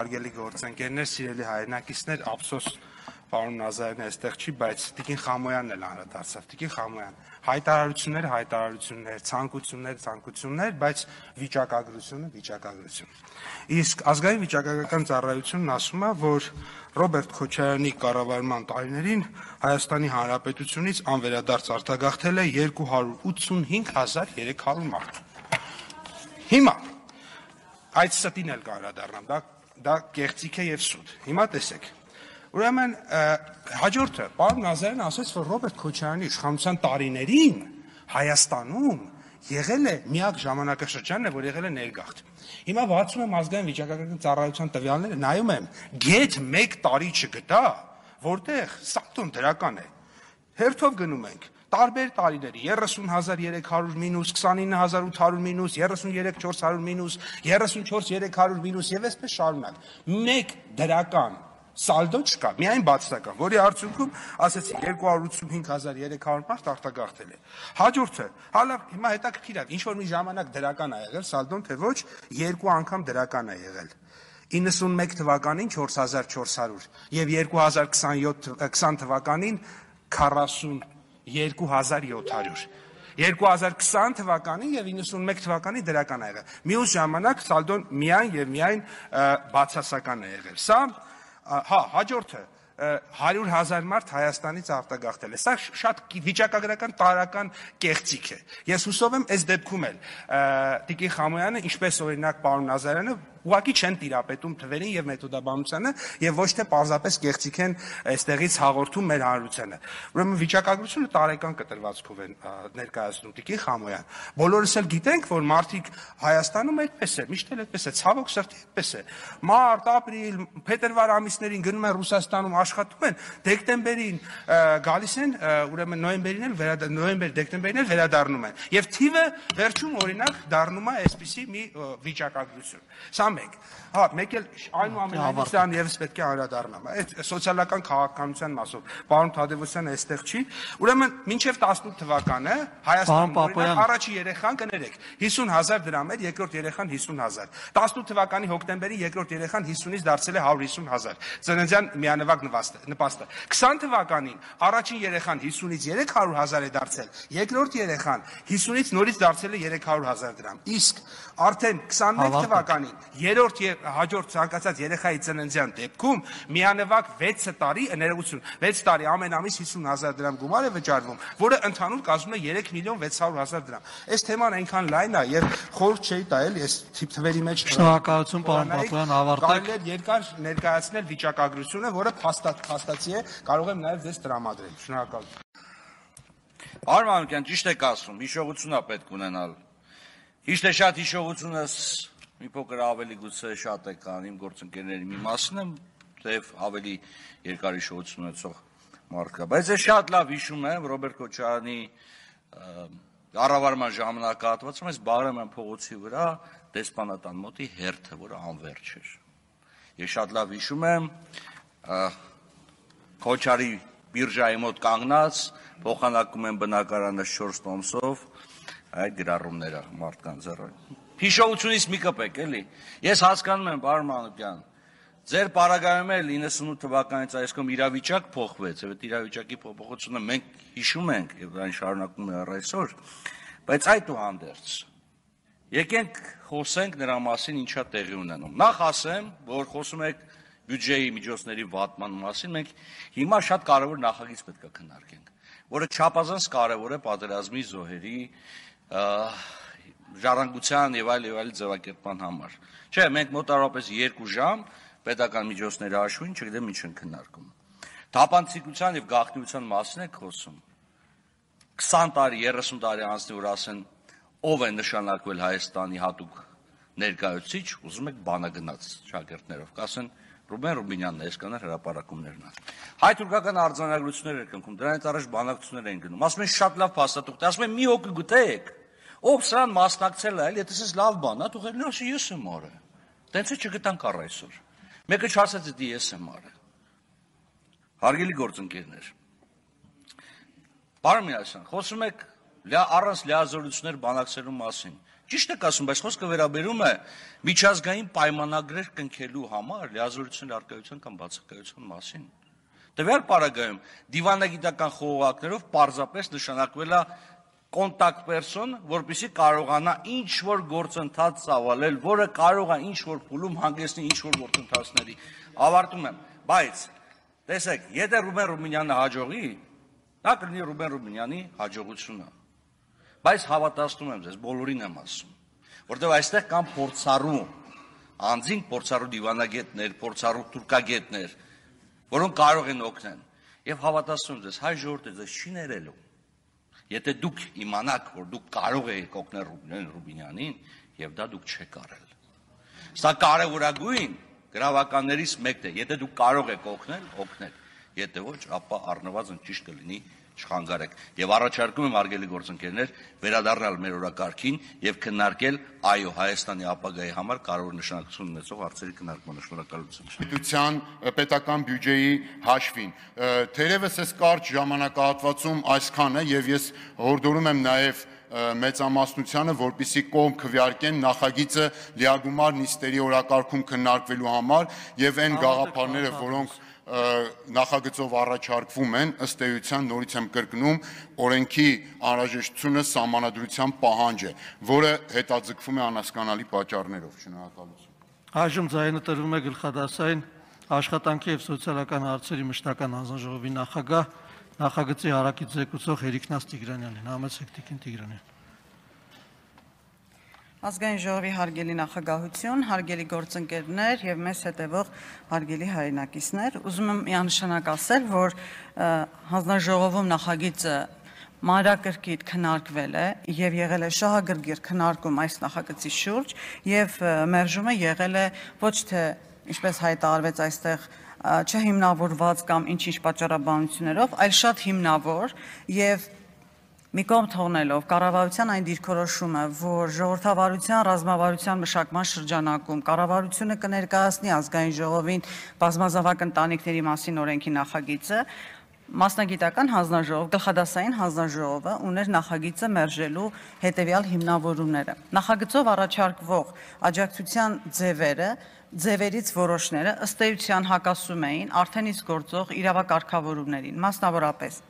Հարգելի գործընկերներ, սիրելի հայրենակիցներ, ափսոս պարոն Նազարյանն այստեղ չի, բայց Տիկին Խամոյանն էլ անդրադարձավ։ Տիկին Խամոյան, հայտարարություններ, ցանկություններ, բայց վիճակագրություն։ Իսկ ազգային վիճակագրական ծառայությունն ասում է, որ Ռոբերտ Քոչարյանի կառավարման տարիներին Հայաստանի Հանրապետությունից անվերադարձ արտագաղթել է 285,300 մարդ։ Հիմա այդ ստին էլ կանդրադառնամ, դա կեղծիք է եւ սուտ։ Հիմա տեսեք։ Ուրեմն հաջորդը պարոն Նազարյանն ասաց, որ Ռոբերտ Քոչարյանի իշխանության տարիներին Հայաստանում եղել է միակ ժամանակաշրջանն է, որ եղել է ներգաղթ։ Հիմա բացում եմ ազգային վիճակագրական ծառայության տվյալները, նայում եմ, գեթ 1 տարի չգտա, որտեղ սատուն դրական է։ Հերթով գնում ենք տարբեր տարիների 30,300 մինուս, 29,800 մինուս, 33,400 մինուս, 34,300 մինուս եւ այսպես շարունակ։ Մեկ դրական սալդո չկա, միայն բացասական, որի արդյունքում ասեցի 285,300 մարդ արտագաղթել է։ Հաջորդը, հալա հիմա հետաքրքիր է, ինչ որ մի ժամանակ դրական է եղել սալդոն, թե ոչ, 2 անգամ դրական է եղել։ 91 թվականին 4,400 եւ 2020 թվականին 42,700 2020 թվականին եւ 91 թվականին դրական է եղել։ Մյուս ժամանակ սալդոն միայն եւ միայն բացասական է եղել։ Սա հաջորդը 100,000 մարդ Հայաստանից արտագաղթել է։ Սա շատ վիճակագրական տարական կեղծիք է։ Ես հուսով եմ այս դեպքում էլ Տիկին Խամոյանը, ինչպես օրինակ պարոն Նազարյանը, ուղղակի չեն տիրապետում թվերին եւ մեթոդաբանությանը եւ ոչ թե պարզապես կեղծիք են այստեղից հաղորդում մեր հանրությանը։ Ուրեմն վիճակագրությունը տարեկան կտրվածքով են ներկայացնում Տիկին Խամոյան։ Բոլորս էլ գիտենք, որ մարդիկ Հայաստանում այդպես է, միշտ էլ այդպես է, ցավոք սրտի այդպես է։ Մարտ, ապրիլ, փետրվար ամիսներին գնում են Ռուսաստանում աշխատում են, դեկտեմբերին գալիս են, ուրեմն նոյեմբերին էլ դեկտեմբերին էլ վերադառնում են։ Եվ թիվը վերջում օրինակ դառնում է այսպիսի մի վիճակագրություն։ Սա մեկ։ Մեկ էլ այնուամենայնիվ սրան եւս պետք է անդրադառնամ։ Այդ սոցիալական քաղաքականության մասով պարոն Թադևոսյանը այստեղ չի։ Ուրեմն մինչև 18 թվականը Հայաստանում առաջի երեխան կներեք 50,000 դրամ էր, երկրորդ երեխան 50,000։ 18 թվականի հոկտեմբերին երկրորդ երեխան 50-ից դարձել է 150,000։ Ծննդյան միանվագ նպաստը։ 20 թվականին առաջին երեխան 50-ից 300,000 է դարձել, երկրորդ երեխան 50-ից նորից դարձել է 300,000 դրամ։ Իսկ արդեն 21 թվականին երրորդ հաջորդ ցանկացած երեխայի ծննդյան դեպքում միանվագ 6 տարի, ներողություն, 6 տարի ամեն ամիս 50,000 դրամ գումար է վճարվում, որը ընդհանուր կազմում է 3,600,000 դրամ։ Այս թեման այնքան լայն է եւ խորհուրդ չէի տա էլի այս թվերի մեջ։ Շնորհակալություն պարոն Պապոյան, ավարտեք։ Կարելի է երկար ներկայացնել վիճակագրությունը, որը փաստացի է, կարող եմ նաեւ ձեզ տրամադրել։ Շնորհակալություն։ Պարոն Մանուկյան, ճիշտ եք ասում, հիշողություն է պետք ունենալ։ Ճիշտ է, շատ հիշողությունս մի փոքր ավելի գուցե շատ է կան իմ գործընկերների մի մասն եմ, թեև ավելի երկար հիշողություն ունեցող մարդ կա, բայց ես շատ լավ հիշում եմ Ռոբերտ Քոչարյանի կառավարման ժամանակահատվածում այս Բաղրամյան փողոցի վրա դեսպանատան մոտի հերթը, որը անվերջ էր։ Ես շատ լավ հիշում եմ Քոչարի բիրժայի մոտ կանգնած, փոխանակում են բնակարանը 4 տոմսով, այդ գրառումները մարդկանց ձեռը։ Հիշողությունից մի կպեք, էլի։ Ես հասկանում եմ, պարոն Մանուկյան, ձեր պարագայում էլ 98 թվականից այսքան իրավիճակ փոխվեց, եւ այդ իրավիճակի փոփոխությունը մենք հիշում ենք եւ այն շարունակում է առ այսօր, բայց այդուհանդերձ եկենք խոսենք նրա մասին ինչա տեղի ունենում։ Նախ ասեմ, որ խոսում եք բյուջեի միջոցների վատման մասին, մենք հիմա շատ կարևոր նախագիծ պետք է քննարկենք, որը չափազանց կարևոր է պատերազմի զոհերի ժառանգության եւ այլ ձևակերպման համար։ Չէ, մենք մոտավորապես 2 ժամ պետական միջոցների հաշվին չգիտեմ ինչ են քննարկում։ Թափանցիկության եւ գաղտնիության մասին եք խոսում։ 20 տարի, 30 տարի անցնի, որ ասեն ով է նշանակվել Հայաստանի հատուկ ներկայացուցիչ, ուզում եք բանագնաց շագերտներով, կասեն Ռուբեն Ռուբինյանն է, այսքաններ հրապարակումներն են։ Հայ-թուրքական արձանագրություններ եք ընկնում, դրանից առաջ բանակցություններ են գնում։ Ասում են շատ լավ փաստաթուղթ, ասում են մի հոգի գտեք, ով սրան մասնակցել է, եթե ես լավ բան, թողել ասի ես եմ արել։ Տենց է չգտանք առ այսօր։ Մեկը չասեց դի ես եմ արել։ Հարգելի գործընկերներ, պարոն Միասյան, խոսում եք առանց լիազորություններ բանակցելու մասին։ Ճիշտ եք ասում, բայց խոսքը վերաբերում է միջազգային պայմանագրեր կնքելու համար լիազորությունների առկայության կամ բացակայության մասին։ Տվյալ պարագայում դիվանագիտական խողովակներով պարզապես նշանակվել է կոնտակտ պերսոն, որպեսզի կարողանա ինչ-որ գործընթաց ծավալել, որը կարող է ինչ-որ փուլում հանգեցնի ինչ-որ գործընթացների։ Ավարտում եմ, բայց տեսեք, եթե Ռուբեն Ռուբինյանը հաջողի, դա կլինի Ռուբեն Ռուբինյանի հաջողությունը։ Բայց հավատացնում եմ ձեզ, բոլորին եմ ասում, որտեղ այստեղ կան փորձառու անձինք, փորձառու դիվանագետներ, փորձառու թուրքագետներ, որոնք կարող են օգնել։ Եվ հավատացնում եմ ձեզ, հայ ժողովուրդը ձեզ չի ներելու։ Եթե դուք իմանաք, որ դուք կարող եք օգնել Ռուբեն Ռուբինյանին, եւ դա դուք չեք արել։ Սա կարևորագույն գրավականներից մեկն է, եթե դուք կարող եք օգնել, օգնել, եթե ոչ, ապա առնվազն ճիշտ կլինի չխանգարեք։ Եվ առաջարկում եմ արգելի գործընկերներ վերադառնալ մեր օրակարգին եւ քննարկել այո Հայաստանի ապագայի համար կարևոր նշանակություն ունեցող հարցերի քննարկմանը։ Շնորհակալություն։ Պետության պետական բյուջեի հաշվին։ Թերևս այս կարճ ժամանակահատվածում այսքան է եւ ես հորդորում եմ նաեւ մեծամասնությանը, որպեսզի կողմ քվեարկեն նախագիծը լիագումար նիստերի օրակարգում քննարկվելու համար եւ այն գաղափարները, որոնք նախագծով առաջարկվում են, ըստ էության նորից եմ կրկնում, օրենքի անհրաժեշտությունը սահմանադրության պահանջ է, որը հետաձգվում է անհասկանալի պատճառներով։ Շնորհակալություն։ Այժմ ձայնը տրվում է գլխադասային աշխատանքի եւ սոցիալական հարցերի մշտական հանձնաժողովի նախագահ նախագծի հարակից զեկուցող Հերիքնաց Տիգրանյանին։ Համեցեք Տիկին Տիգրանյան։ Ազգային ժողովի հարգելի նախագահություն, հարգելի գործընկերներ եւ մեզ հետևող հարգելի հայրենակիցներ, ուզում եմ միանշանակ ասել, որ հանձնաժողովում նախագիծը մանրակրկիտ քննարկվել է եւ եղել է շահագրգիռ քննարկում այս նախագծի շուրջ եւ մերժումը եղել է ոչ թե ինչպես հայտարարվեց այստեղ չհիմնավորված կամ ինչ-ինչ պատճառաբանություններով, այլ շատ հիմնավոր եւ մի կողմ թողնելով կառավարության այն դիրքորոշումը, որ ժողովրդավարության ռազմավարության մշակման շրջանակում կառավարությունը կներկայացնի ազգային ժողովին բազմազավակ ընտանիքների մասին օրենքի նախագիծը, մասնագիտական հանձնաժողով, գլխադասային հանձնաժողովը ուներ նախագիծը մերժելու հետևյալ հիմնավորումները։ Նախագծով առաջարկվող աջակցության ձևերից որոշները ըստ էության հակասում էին արդեն իսկ գործող իրավակարգավորումներին, մասնավորապես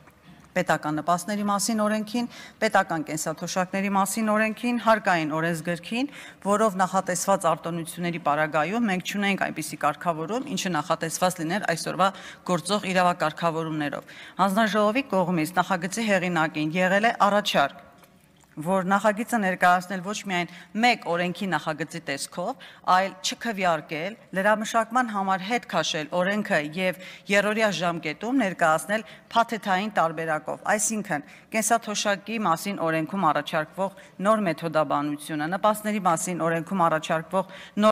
պետական նպաստների մասին օրենքին, պետական կենսաթոշակների մասին օրենքին, հարկային օրենսգրքին, որով նախատեսված արտոնությունների պարագայում մենք չունենք այնպիսի կարգավորում, ինչը նախատեսված լիներ այսօրվա գործող իրավակարգավորումներով։ Հանձնաժողովի կողմից նախագծի հեղինակին եղել է առաջարկ, որ նախագիծը ներկայացնել ոչ միայն մեկ օրենքի նախագծի տեսքով, այլ չքվեարկել, լրամշակման համար հետ քաշել օրենքը եւ երրորդյա ժամկետում ներկայացնել փաթեթային տարբերակով, այսինքն կենսաթոշակի մասին օրենքում առաջարկվող նոր մեթոդաբանությունը, նպաստների մասին օրենքում առաջարկվող նոր